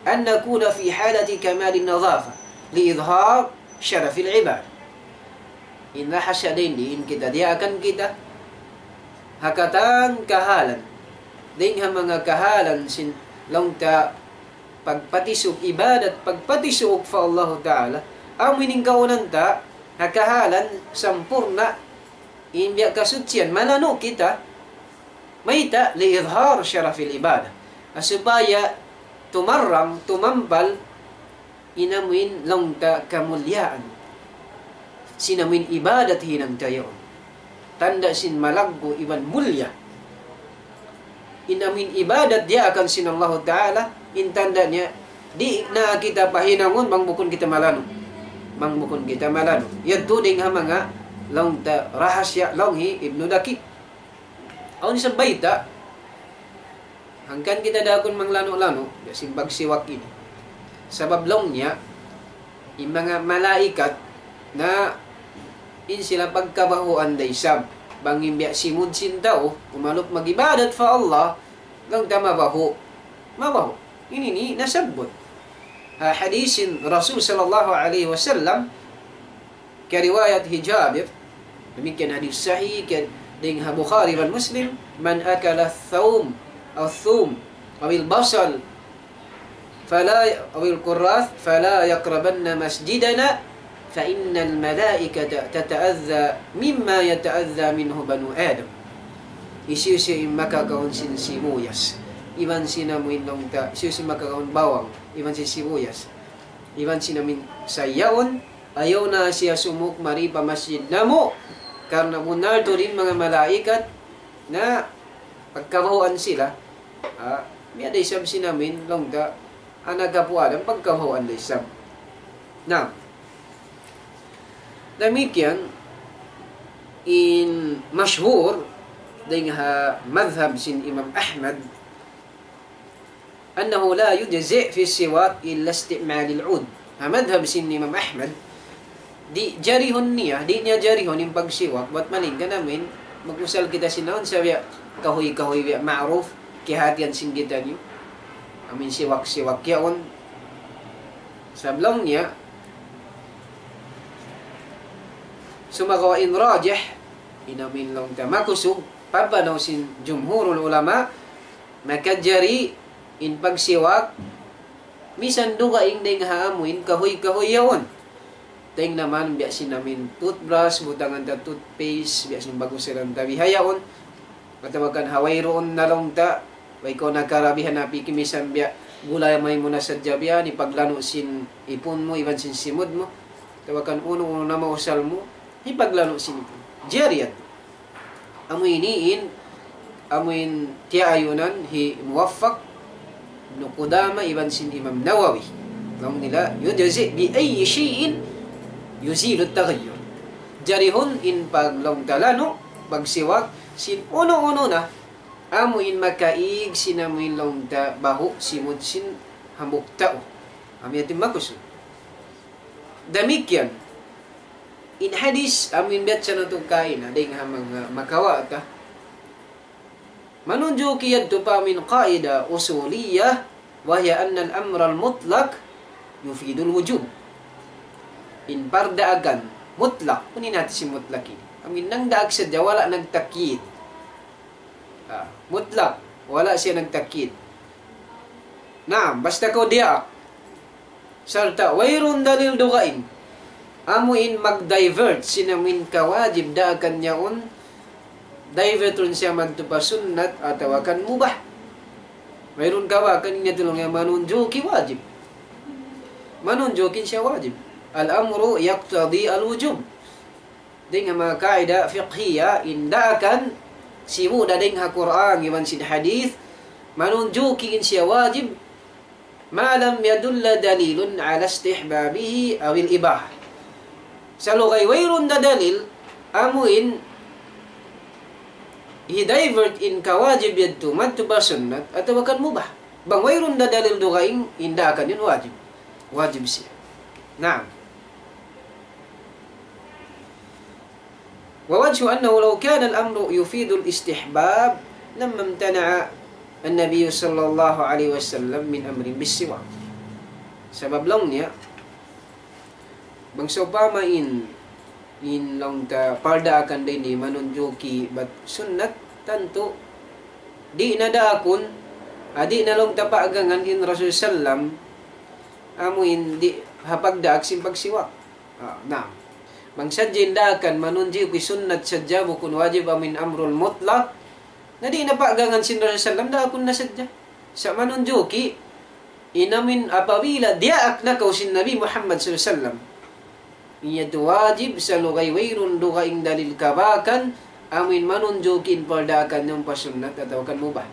أن نكون في حالة كمال النظافة لإظهار شرف العبادة. In rahasiya dayn di, in kita diyaakan kita, ha katan kahalan, dayn ha manga kahalan sin laung ta pagpatisuuk ibadat, pagpatisuuk pa Allahu Ta'ala, amu in kahulan ta, ha kahalan sampurna', in biya' kasuchian, malanu' kita, mayta', لإظهار شرف العبادة. Ha supaya tumarrang, tumampal, in amuin laung ta kamulyaan sin amuin ibadat hinang ta yaun. Tanda' sin malaggu' iban mulya. In amuin ibadat diyaakan sin Allahu Ta'ala, in tanda' niya, di' na kita pahinangun bang bukun kita malanu'. Bang bukun kita malanu'. Yadtu dayn ha manga laung ta rahasiya laung hi Ibnu Daqiq. Awn isab bayta', hangkan kita daakun manglanu'-lanu', biya' sin pagsiwak ini. Sabab laung niya, in manga malaikat na in sila pagkabahuan da isab. Bang in biya' simud sin tau, umalup mag-ibadat pa Allah, laung ta mabahu'. Mabahu'. Ini ini nasabbut ha hadith sin Rasul sallallahu alayhi wasallam, kariwayat hi Jabir, damikkiyan hadith sahih, kay dayn ha Bukhari iban Muslim, من أكل الثوم، الثوم، أو البصل، فلا، أو الكراث، فلا يقربن مسجدنا، فإن الملائكة تتأذى مما يتأذى منه بنو آدم. hisiyu-siyu in makakaun sin sibuyas, iban sin amuin laung ta, hisiyu-siyu makakaun bawang, iban sin sibuyas, iban sin amuin sa yaun, ayaw na siya sumuk mari pa masjid namu', karna' bunnal tuud in manga malaikat na pagkabahuan sila, ha, biya' da isab sin amuin laung ta, anak apu' Adam, pagkabahuan da isab. Na, damikkiyan in mashhur dayn ha madhhab sin Imam Ahmad, أنه لا يجزئ في السواك إلا استعمال العود. Ha madhhab sin Imam Ahmad, di' jarihun niya, di' niya jarihun in pagsiwak, bat malayngkan amuin mag-usal kita sin awn sa biya' kahuy-kahuy biya' ma'ruf, kiyahatihan sin kitaniyu. Amuin siwak-siwak yaun. Sabab laung niya, sumagawa' in rajih, in amuin laung ta makusug, pagpanaw sin jumhurul ulama, makajari in pagsiwak, misan dugaing dayn ha amuin kahuy-kahuy yaun. Dayn naman biya' sin amuin toothbrush, butangan ta toothpaste, biya' sin bagus silang tabihayaun. Atawa kan ha wayruun na laung ta, way kaw nakarabihan na piki misan biya' gulay may mu na sadja biya', hipaglanu' sin ipun mu, iban sin simud mu. Atawa kan unu-unu na mausal mu, hipaglanu' sin ipun. Jari yadtu. Amu ini in, amu in tiyaayunan hi Muwaffaq, Ibnu Qudama, iban sin Imam Nawawi. Laung nila, يجزئ بأي شيء يزيل التغير. Jarihun in paglaung ta lanu', pagsiwak, sin unu-unu na, amu in makaig sin amu in laung ta bahu' simud sin hambuuk tau. Amu yadtu in makusud. Damikkiyan, in hadis amu in biyatsa natu' kaina, dayn ha manga makawa' ta. Manunjuki yadtu pa amu in qaida usuliyah, وهي أن الأمر المطلق يفيد الوجوب. In pardaakan mutlak, unu in hati sin mutlak ini? Amu in nagdaak sadja, wala' nagtakyid. Ah, mutlak, wala' siya nagtakyid. Naam, basta kaw diyaak. Sarta' wayruun dalil dugaing. Amu in mag-divert sin amu in kawajib daakan yaun, divert run siya madtu pa sunnat atawa kan mubah. Wayruun kawakan niya tulung niya manunjuki wajib. Manunjuki siya wajib. الأمر يقتضي الوجوب. Dayn ha manga kaida fiqhiyya, in daakan sibu' da dayn ha Qur'an iban sin hadith, manunjuki in siya wajib, ما لم يدل دليل على استحبابه أو الإباحة. Salugay wayruun da dalil, amu in hi-divert in kawajib yadtu madtu pa sunnat atawa kan mubah. Bang wayruun da dalil dugaing, in daakan yan wajib. Wajib siya. Naam. ووجه أنه لو كان الأمر يفيد الاستحباب لما امتنع النبي صلى الله عليه وسلم من أمر بالسواك. Sabab laung niya, bang sawpama in, in laung ta pardaakan da ini manunjuki bat sunnat, tantu di' na daakun, ah, di' na laung ta paagangan in Rasul sallam, amu in di' ha pagdaak sin pagsiwak. Ah, naam. Bang sadja in daakan manunjuki sunnat sadja bukun wajib amu in amrul mutlak, na di' na paagangan sin Rasul sallam, daakun na sadja. Sa' manunjuki, in amu in apabila diyaak na kaw sin Nabi Muhammad sallallahu alayhi wasallam, in yadtu wajib salugay wayruun dugaing dalil kabakan, amu in manunjuki in pardaakan yan pa sunnat atawa kan mubah.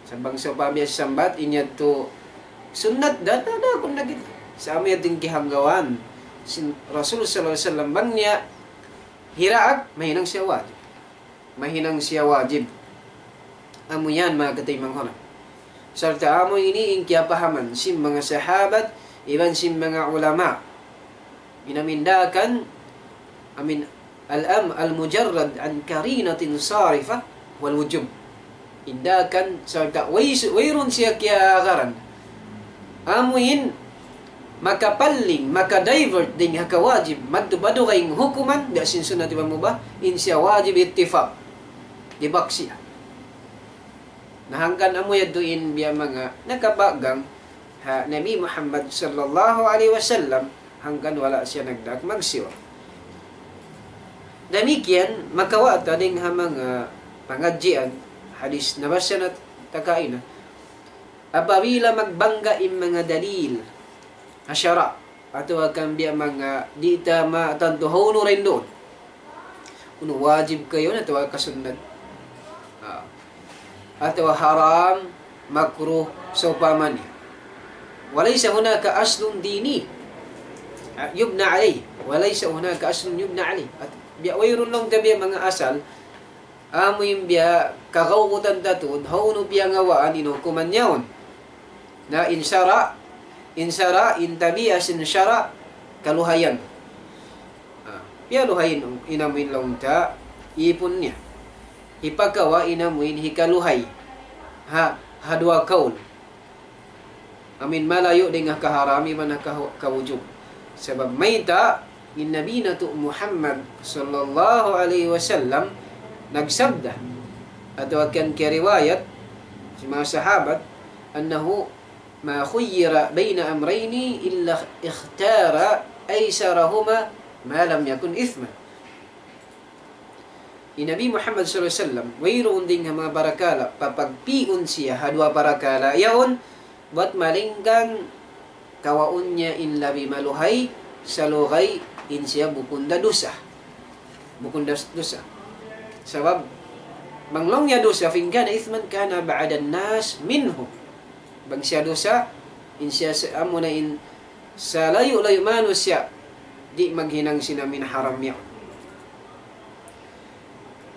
Sa' bang sawpama biya' sambat, in yadtu sunnat da, da, daakun na kita. Sa' amu yadtu in kiyahanggawan sin Rasul sallallahu alayhi wasallam, bang niya hiraak, mahinang siya wajib. Mahinang siya wajib. Amu yan, manga kataymanghuran. Sarta' amu ini in kiyapahaman sin manga sahabat, iban sin manga ulama. In amu in daakan, amu in الأمر المجرد عن قرينة صارفة هو الوجوب. In daakan sarta' way-, wayruun siya kiyagaran. Amu in makapaling, maka-divert dayn ha kawajib, madtu pa dugaing hukuman, biya' sin sunnat iban mubah, in siya wajib ittifaq. Dibak siya. Na hangkan amu yadtu in biya' manga nakapagang ha Nabi Muhammad sallallahu alayhi wasallam, hangkan wala' siya nagdaak magsiwak. Damikkiyan, makawa' ta dayn ha manga pangadjian, hadis nabasa natu' kaina. Apabila magbangga in manga dalil ha sara', atawa kan biya' manga di' ta matantu hawnu rin duun. Unu wajib kayu atawa kasunnat. Ah. Atawa haram, makruh, sawpama niya. وليس هناك أصل ديني يبنى عليه. وليس هناك أصل يبنى عليه. At biya' wayruun laung ta biya' manga asal, amu in biya' kagaugutan ta tuud, hawnu piyangawaan in hukuman yaun. Na in sara', in sara', in tabiat sin sara', kaluhayan. Ah, piyaluhay in amu in laung ta, ipun niya. Hipakawa' in amu in hikaluhay. Ha, ha duwa kaul. Amu in malayu' dayn ha kaharam iban ha kahu-, kawujub. Sabab mayta', in Nabi natu' Muhammad sallallahu alayhi wasallam nagsabda, atawa kan kiyariwayat sin manga sahabat, أنه ما خير بين أمرين إلا اختار أيسرهما ما لم يكن إثما. In Nabi Muhammad sallallahu alayhi wasallam, wayruun dayn ha manga parakala', papagpi'un siya ha duwa parakala' yaun, bat malaingkan kawaun niya in labi maluhay, salugay in siya bukun da dusa. Bukun da dusa. Sabab, bang laung niya dusa, فإن كان إثما كان أبعد الناس منه. Bang siya dusa, in siya sa-, amu na in salayu'-layu' manusiya', di' maghinang sin amu in haram niya.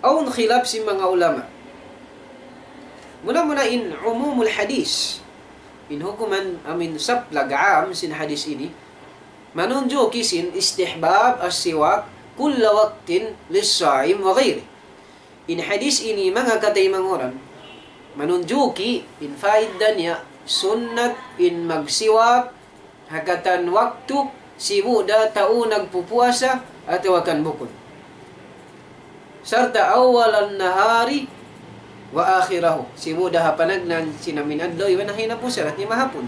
Awn khilaf sin manga ulama. Muna-muna in umumul hadis. In hukuman amu in saplag aam sin hadis ini. Manunjuki sin istihbab as-siwak kulla waqtin lis-saim wa ghayri. In hadis ini manga kataymanghuran. Manunjuki in faida niya sunnat in magsiwak ha katan waktu, sibu' da tau nagpupuasa atawa kan bukun. Sarta' أول النهار وآخره. Sibu' da ha panagnaan sin amu in adlaw, iban ha hinapusan, hati mahapun.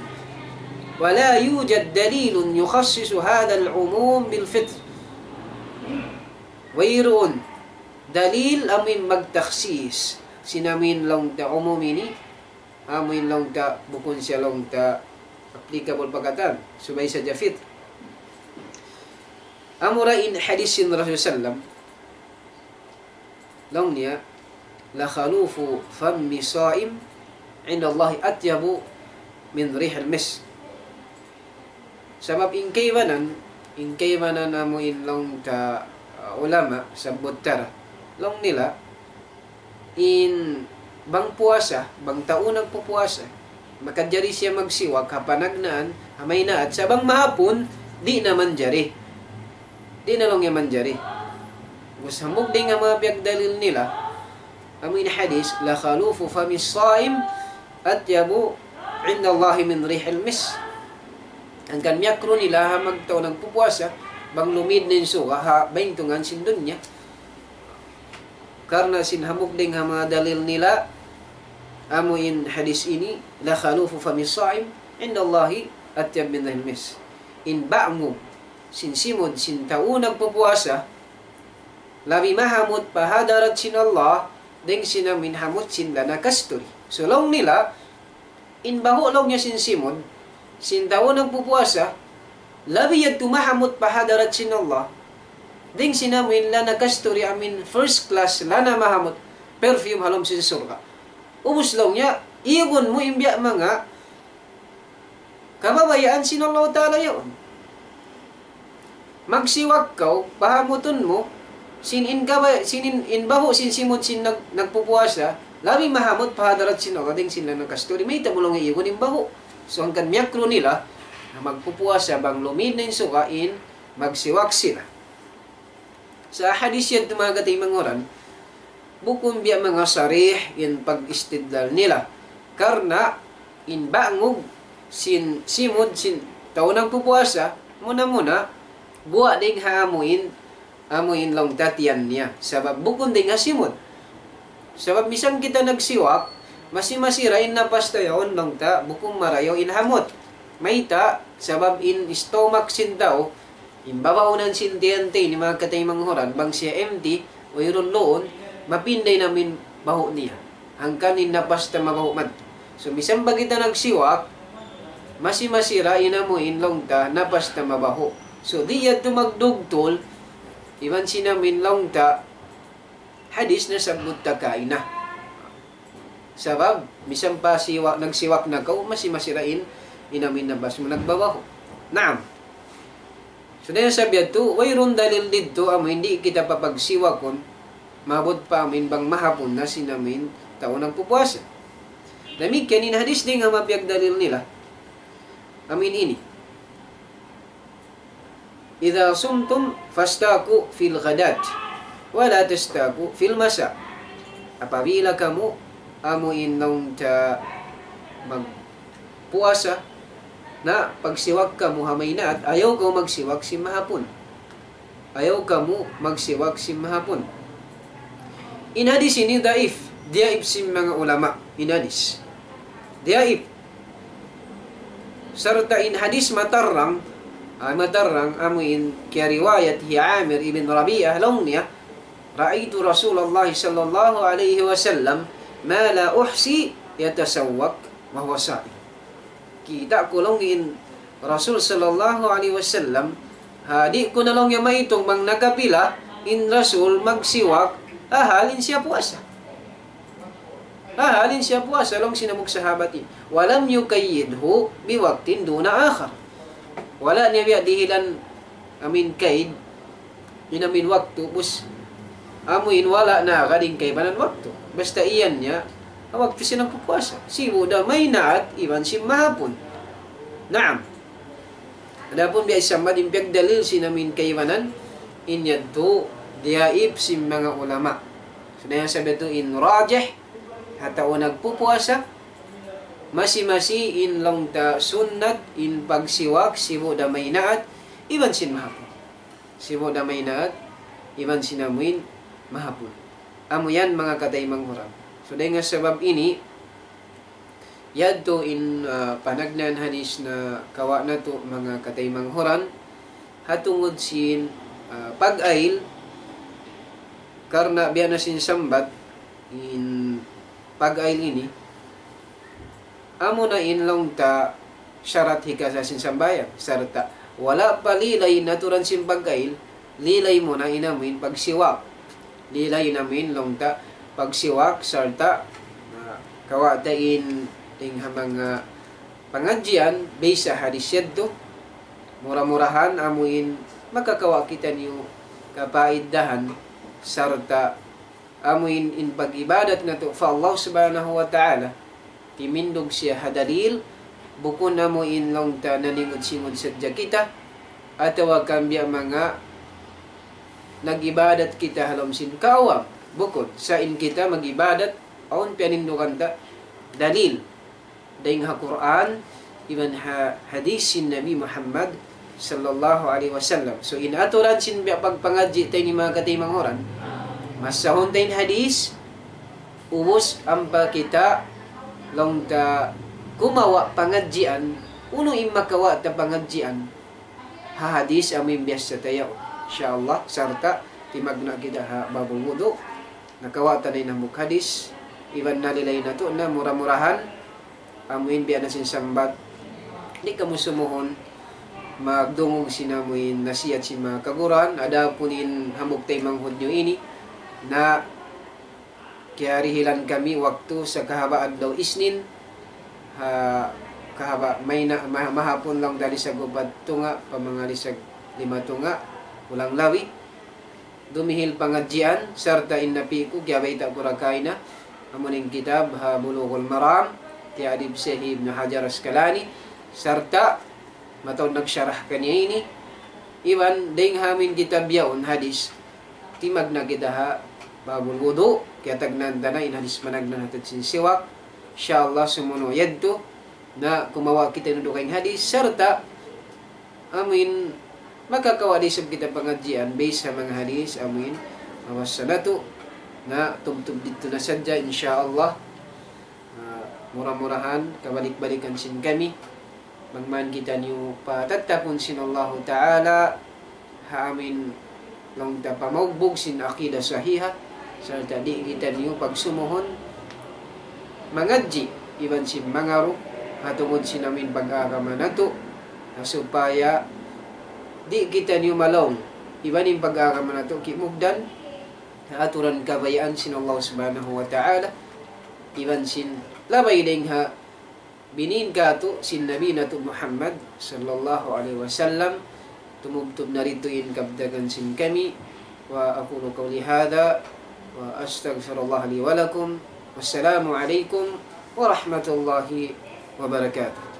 ولا يوجد دليل يخصص هذا العموم بالفطر. Wayruun dalil amu in magtakhsis sin amu in laung ta umum ini, amu in laung ta, bukun siya laung ta applicable pa katan, subay sadja fitr. Amura in hadis sin Rasul sallam, laung niya, لخلوف فم الصائم عند الله أطيب من ريح المسك. Sabab in kaibanan, in kaibanan amu in laung ta, uh, ulama, sabbut ta ra. Laung nila, in bang puasa, bang tau nagpupuasa, makajari siya magsiwak ha panagnaan, ha maynaat, sa' bang mahapun, di' na manjari. Di' na laung niya manjari. Ubus hambuuk dayn ha manga piyagdalil nila, amu in hadis, لخلوف فم الصائم أطيب عند الله من ريح المسك. Hangkan miyakru nila ha magtau nagpupuasa, bang lumid na in suga ha baintungan sin dunya. Karna' sin hambuuk dayn ha manga dalil nila, amu in hadis ini, لخلوف فم الصائم عند الله أطيب من ريح المسك. In bangug sin simud sin tau nagpupuasa, labi mahamut pa hadarat sin Allah, dayn sin amu in hamut sin lana kasturi. So laung nila, in bahu' laung niya sin simud sin tau nagpupuasa, labi yadtu mahamut pa hadarat sin Allah, dayn sin amu in lana kasturi, amu in first class lana mahamut, perfume ha lawm sin surga'. Ubus laung niya, igun mu in biya' manga kabayaan sin Allah Ta'ala yaun. Magsiwak kaw, pahamutun mu, sin in kabay-, sin in, in bahu' sin simud sin nag-, nagpupuasa, labi mahamut pa hadarat sin Allah dayn sin lana kasturi. Mayta' mu laung igun in bahu'. So hangkan miyakru nila, na magpupuasa bang lumid na in suga' in magsiwak sila. Sa' hadis yadtu manga kataymanghuran, bukun biya' manga sarih in pag-istidlal nila. Karna' in bangug sin simud sin tau nagpupuasa, muna-muna, guwa' dayn ha amu in, amu in laung ta tiyan niya. Sabab bukun dayn ha simud. Sabab misan kita nagsiwak, masi-masi ra in napas ta yaun laung ta, bukun marayaw in hamut. Mayta', sabab in stomach sin tau, in babaunan sin tiyan ta ini manga kataymanghuran, bang siya empty, wayruun luun, mapinda in amu in bahu' niya. Hangkan in napas ta mabahu' madtu. So, misan pa kita nagsiwak, masi-masi ra in amu in laung ta napas ta mabahu'. So, di' yadtu magdugtul, iban sin amu in laung ta, hadis nasabbut ta kaina. Sabab, misan pa siwak, nagsiwak na kaw, masi-masi ra in, in amu in napas mu nagbabahu'. Naam. So, dayn ha sabab yadtu, wayruun dalil didtu, amu in di' kita papagsiwakun, maabut pa amu in bang mahapun na sin amu in tau nagpupuasa. Damikkiyan in hadis dayn ha mapiyagdalil nila. Amu in ini. إذا صمتم فاستاكوا في الغداة ولا تستاكوا في المساء. Apabila kamu amu in laung ta magpuasa, na pagsiwak kamu ha maynaat, ayaw kamu magsiwak sin mahapun. Ayaw kamu magsiwak sin mahapun. In hadis ini daif, diyaif sin manga ulama, in hadis. Diyaif. Sarta' in hadis matarrang, ah, matarrang amu in kiyariwayat hi Amir ibn Rabi'ah, laung niya, رأيت رسول الله صلى الله عليه وسلم ما لا أحصي يتسوك وهو صائم. Kita' ku laung in Rasul sallallahu alayhi wasallam, ha, di' ku na laung niya maitung bang nakapila in Rasul magsiwak, ha hal in siya puasa. Ha hal in siya puasa, laung sin hambuuk sahabat ini. ولم يقيده بوقت دون آخر. Wala' niya biya' dihilan, amu in kaid, in amu in waktu, bus, amu in wala' na agad in kaibanan waktu. Basta iyan niya, ha waktu sin nagpupuasa. Sibu' da maynaat, iban sin mahapun. Naam. Adapun biya' isab in piyagdalil sin amu in kaibanan, in yadtu, diyaif sin manga ulama. So, dayn ha sabab yadtu in rajih, ha tau nagpupuasa, masi-masi in laung ta sunnat, in pagsiwak, sibu' da maynaat, iban sin mahapun. Sibu' da maynaat, iban sin amu in mahapun. Amu yan manga kataymanghuran. So, dayn ha sabab ini, yadtu in, ah, panagnaan hadis nakawa' natu' manga kataymanghuran, ha tungud sin, ah, pag-ayl, karna' biya' na sin sambat, in pag-ayl ini, amu na in laung ta sarat hikasā sin sambahayang, sarta' wala' pa lilay in aturan sin pag-ayl, lilay mu na in amu in pagsiwak. Lilay in amu in laung ta pagsiwak, sarta', ah, kawa' ta in dayn ha manga pangadjian, base ha hadis yadtu, mura-murahan amu in makakawa' kitaniyu kapaidahan, sarta' amu in, in pag-ibadat natu' pa Allah Subhanahu wa Ta'ala, timindug siya ha dalil, bukun amu in laung ta naningud-singud sadja kita, atawa kan biya' manga nag-ibadat kita ha lawm sin kaawam. Bukun, sa' in kita mag-ibadat, awn piyanindugan ta dalil. Dayn ha Qur'an, iban ha hadis sin Nabi Muhammad sallallahu alayhi wasallam. So, in aturan sin biya' pagpangadji' ta ini manga kataymanghuran, basahun ta in hadis, ubus ampa kita laung ta kumawa' pangadjian, unu in makawa' ta pangadjian, ha hadis amu in biyassa ta yaun. Insya Allah, sarta' timagna' kita ha babul wudu', nakawa' ta na in hambuuk hadis, iban nalilay natu' na mura-murahan, amu in biya' na sin sambat, di' kamu sumuhun magdungug sin amu in nasihat sin manga kaguruhan, adapun in hambuuk taymanghud niyu ini, na kiyarihilan kami waktu sa kahaba' adlaw Isnin, ha, kahaba' mayna', ma-, mahapun laung ta lisag upat tunga', pa manga lisag lima tunga', kulang labi. Dumihil pangadjian, sarta' in napi' ku, kiyabayta' ku ra kaina, amu in kitab ha Bulughul Maram, kiyaadib Shaykh Ibn Hajar Asqalani, sarta' mataud nagsarah kaniya ini, iban dayn ha amu in kitab yaun hadis, timagna' kita ha Babul Wudu', kiyatagnaan ta na in hadis managnaan ha tungud sin siwak, insya Allah sumunu' yadtu, na kumawa' kita in dugaing hadis, sarta' amu in makakawa' da isab kita pangadjian, base ha manga hadis, amu in mabassa natu', na tubtub didtu na sadja, insya Allah. Ah, mura-murahan, kabalik-balikan sin kami, bang man kitaniyu patattapun sin Allahu Ta'ala, ha amu in laung ta pamaugbug sin aqida sahiha, Sarta' di' kitaniyu pagsumuhun mangadji' iban sin mangaru ha tungud sin amin pag-agama natu', na supaya di' kitaniyu malaung iban in pag-agama natu' kimugdan ha aturan kabayaan sin Allah Subhanahu wa Ta'ala, iban sin labay dayn ha binin katu' sin Nabi natu' Muhammad sallallahu alayhi wasallam. Tumubtub na didtu in kabtangan sin kami. وأقول قولي هذا وأستغفر الله لي ولكم. والسلام عليكم ورحمة الله وبركاته.